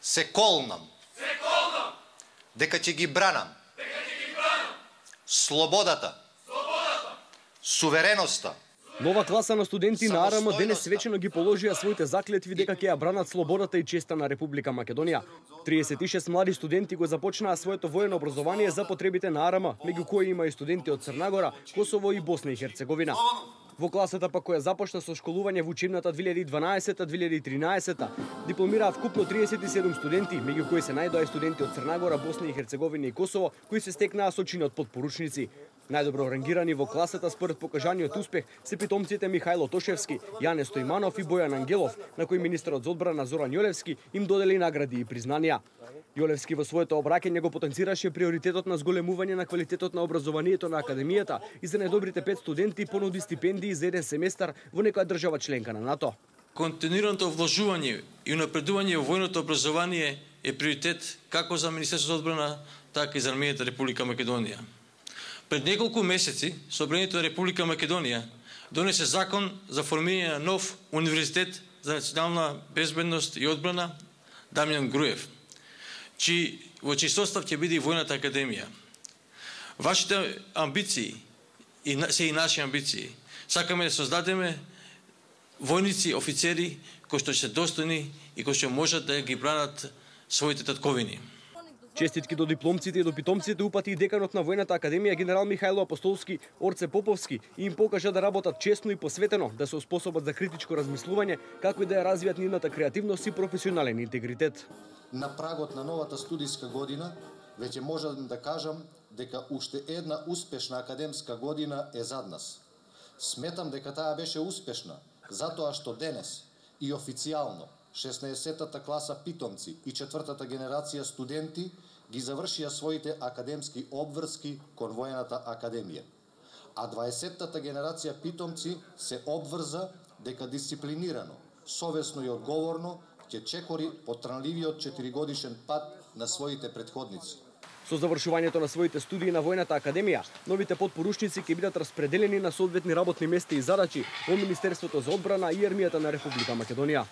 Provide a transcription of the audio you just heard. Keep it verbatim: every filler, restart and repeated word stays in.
Се колнам. Се колнам. Дека ќе ги бранам. Дека ќе ги бранам. Слободата. Слободата. Сувереноста. Нова класа на студенти на АРМ денес свечено ги положија своите заклетви дека ќе ја бранат слободата и честа на Република Македонија. триесет и шест млади студенти го започнаа своето воено образование за потребите на АРМ, меѓу кои има и студенти од Црна Гора, Косово и Босна и Херцеговина. Во класата па која започна со школување во учебната две илјади и дванаесета две илјади и тринаесета, дипломираа вкупно триесет и седум студенти, меѓу кои се најдоа и студенти од Црна Гора, Босна и Херцеговина и Косово, кои се стекнаа со чинот подпоручници. Најдобро рангирани во класата според покажаниот успех се питомците Михајло Тошевски, Јане Стојманов и Бојан Ангелов, на кои министерот за одбрана Зоран Јолевски им додели награди и признанија. Јолевски во своето обраќање го потенцираше приоритетот на зголемување на квалитетот на образованието на академијата и за најдобрите пет студенти понуди стипендии за еден семестар во некоја држава членка на НАТО. Континуираното вложување и унапредување во војното образование е приоритет како за Министерството за одбрана, така и за армијата Република Македонија. Пред неколку месеци Собранието на Република Македонија донесе закон за формирање на нов универзитет за национална безбедност и одбрана Дамјан Груев, чи во чиј состав ќе биде и Војната академија. Вашите амбиции и се и наши амбиции. Сакаме да создадеме војници, офицери кои што се достојни и кои што можат да ги бранат своите татковини. Честитки до дипломците и до питомците упати и деканот на Војната академија генерал Михајло Апостолски, Орце Поповски, и им покажа да работат честно и посветено, да сеоспособат за критичко размислување, како и да ја развијат нивната креативност и професионален интегритет. На прагот на новата студиска година, веќе можам да кажам дека уште една успешна академска година е зад нас. Сметам дека таа беше успешна, затоа што денес и официјално шеснаесеттата класа питомци и четвртата генерација студенти ги завршија своите академски обврски кон Војната академија. А дваесеттата генерација питомци се обврза дека дисциплинирано, совесно и одговорно ќе чекори потрнливиот четиригодишен пат на своите претходници. Со завршувањето на своите студии на Војната академија, новите подпоручници ќе бидат распределени на соодветни работни места и задачи во Министерството за одбрана и армијата на Република Македонија.